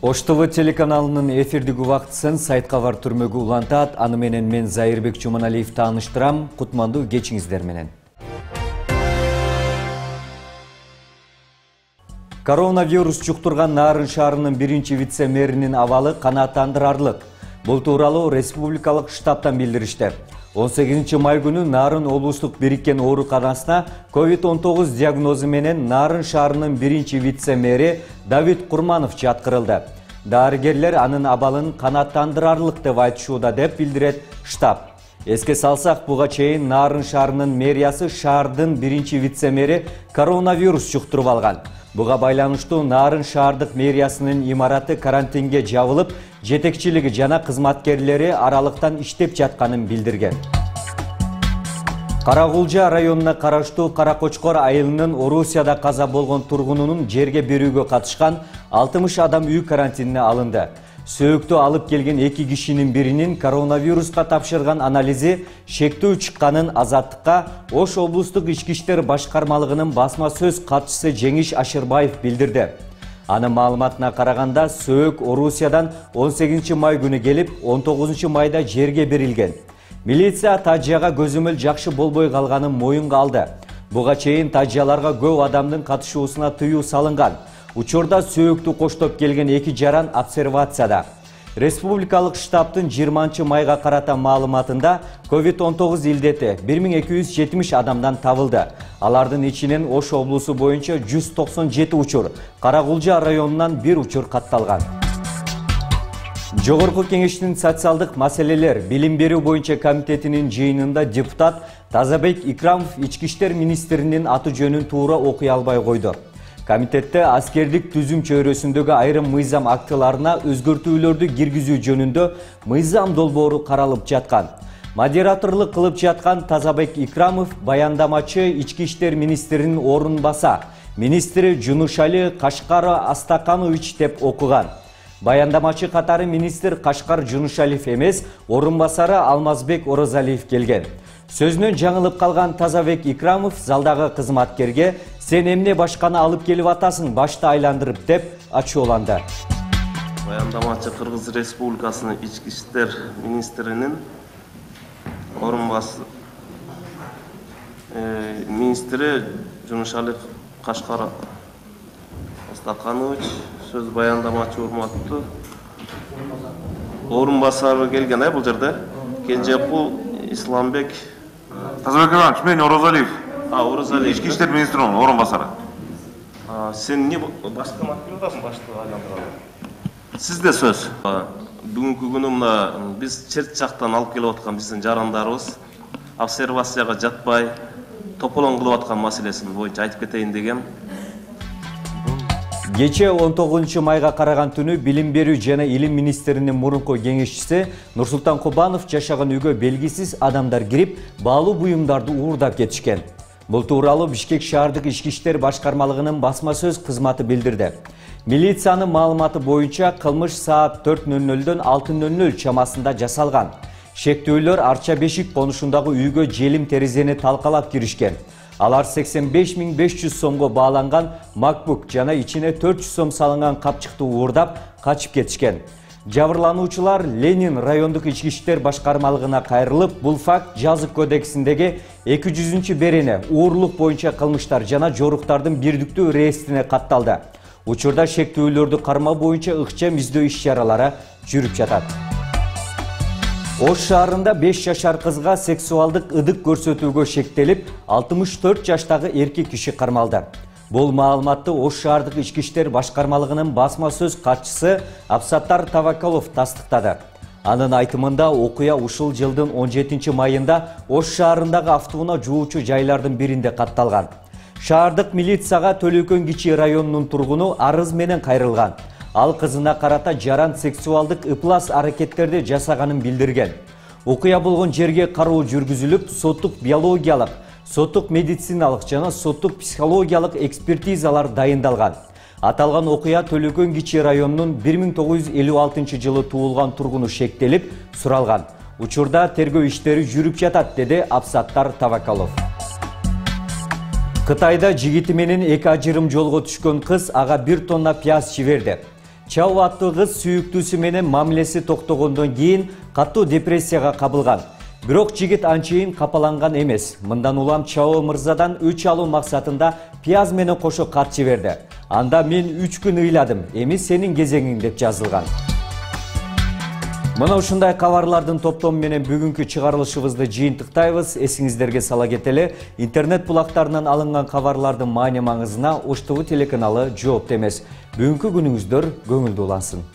Ош ТВ телеканалынын эфирдик убактысын сайт кабар түрмөгү улантат. Аны менен мен Зайырбек Жуманалиев тааныштырам. Кутмандуу кечиңиздер менен. Коронавирус жуктурган Нарын шаарынын биринчи вице-мэринин абалы канааттандырарлык. Бул тууралуу республикалык штабтан билдиришти. 18 май күнү Нарын облустук бириккен ооруканасына COVID-19 диагнозу менен Нарын шаарынын биринчи вице-мэри Давид Курманов жаткырылды. Дарыгерлер анын абалын канааттандырарлык деп айтышууда деп билдирет штаб. Эске салсак, буга чейин Нарын шаарынын мэриясы шаардын биринчи вице-мэри коронавирус жуктуруп алган. Буга байланыштуу Нарын шаардык мэриясынын имараты карантинге жабылып, жетекчилиги жана кызматкерлери аралыктан иштеп жатканын билдирген. Карагулжа районуна караштуу Каракочкор айылынын Орусияда каза болгон тургунунун жерге берүүгө катышкан 60 адам үй карантинине алынды. Сөөктү алып келген 2 кишинин биринин коронавируска тапшырган анализи шектүү чыкканын Азаттыкка Ош облустук ички иштер башкармалыгынын басма сөз катчысы Жеңиш Ашырбаев билдирди. Анын маалыматына караганда, сөөк Орусиядан 18 май күнү келип, 19 майда жерге берилген. Милиция тажияга көзөмөл жакшы болбой калганын моюнга алды. Буга чейин тажияларга көп адамдын катышуусуна тыюу салынган. Учурда сөөктү коштоп келген 2 жаран обсервацияда. Республикалык штабтын 20 майга карата маалыматында COVID-19 илдети 1270 адамдан табылды. Алардын ичинен Ош облусу боюнча 197 учур, Карагулжа районунан 1 учур катталган. Жогорку кеңештин социалдык маселелер билим берүү боюнча комитетинин жыйынында депутат Тазабек Икрамов ички иштер министринин аты жөнүн туура окуй албай койду. Комитетте аскердик түзүм чөйрөсүндөгү айрым мыйзам актыларына өзгөртүүлөрдү киргизүү жөнүндө мыйзам долбоору каралып жаткан. Модераторлук кылып жаткан Тазабек Икрамов баяндамачы ички иштер министринин орун баса, министри Жунушали Кашкар Астаканович деп окуган. Баяндамачы катары министр Кашкар Жунушалиев эмес, орун басары Алмазбек Орозалиев келген. Сөзүнөн жаңылып калган Тазабек Икрамов залдагы кызматкерге "Сен эмне башканы алып келип атасың, башты айландырып" деп ачууланды. Баяндамачы Кыргыз Республикасынын ички иштер министринин орун басары министри Жунушалиев Кашкар Астаканович, сөз баяндамачы урматтуу орун басары келген бул жерде. Кенжекул Исламбек Тазабек Иванович, мен Орозалиев. Орозалиев. Ички иштер министринин орун басары. Сен эмне башка маткил атасың, башты айландыралы? Сизде сөз. Бүгүнкү күнү мына биз чет жактан алып келип аткан биздин жарандарыбыз обсервацияга жатпай, тополоң кылып аткан маселесин боюнча айтып кетейин деген. Кече 19 майга караган түнү билим берүү жана илим министринин мурунку кеңешчиси Нурсултан Кубанов жашаган үйгө белгисиз адамдар кирип, баалуу буюмдарды уурдап кетишкен. Бул тууралуу Бишкек шаардык ички иштер башкармалыгынын басма сөз кызматы билдирди. Милициянын маалыматы боюнча кылмыш саат 4:00дөн 6:00 чамасында жасалган. Шектүүлөр Арча Бешик конушундагы үйгө желим терезени талкалап киришкен. Алар 85.500 сомго бааланган MacBook жана ичине 400 сом салынган капчыкты уурдап качып кетишкен. Жабырлануучулар Ленин райондук ички иштер башкармалыгына кайрылып, бул факт жазык кодексиндеги 200 берене уурлук боюнча кылмыштар жана жоруктардын бирдиктүү реестрине катталды. Учурда шектүүлөрдү кармоо боюнча ыкчам издөө иш-чаралары жүрүп жатат. Ош шаарында 5 жашар кызга сексуалдык ыдык көрсөтүүгө шектелип, 64 жаштагы эркек киши кармалды. Бул маалыматты Ош шаардык ички иштер башкармалыгынын басма сөз катчысы Абсаттар Тавакалов тастыктады. Анын айтымында окуя ушул жылдын 17 майында Ош шаарындагы автоунаа жуучу жайлардын биринде катталган. Шаардык милицияга Төлөкөн Кичи районунун тургуну арыз менен кайрылган. Ал кызына карата жаран сексуалдык ыплас аракеттерди жасаганын билдирген. Окуя болгон жерге кароо жүргүзүлүп, соттук биологиялык, соттук медициналык жана соттук психологиялык экспертизалар дайындалган. Аталган окуя Төлөкөн Кичи районунун 1956 жылы туулган тургуну шектелип, суралган. Учурда тергөө иштери жүрүп жатат, деди Абсаттар Тавакалов. Кытайда жигити менен 2 ажырым жолго түшкөн кыз ага 1 тонна пияз жиберди. Чао аттуу кыз сүйүктүүсү менен мамилеси токтогондон кийин катуу депрессияга кабылган. Бирок жигит анчейин капаланган эмес. Мындан улам Чао мырзадан өч алуу максатында пияз менен кошо кат жиберди. Анда мен 3 күн ыйладым, эми сенин кезеңиң деп жазылган. Мына ушундай кабарлардын топтому менен бүгүнкү чыгарылышыбызды жыйынтыктайбыз. Эсиңиздерге сала кетели, интернет булактарынан алынган кабарлардын маани маңызына Ош ТV телеканалы жоопту эмес. Бүгүнкү күнүңүздөр көңүлдүү улансын.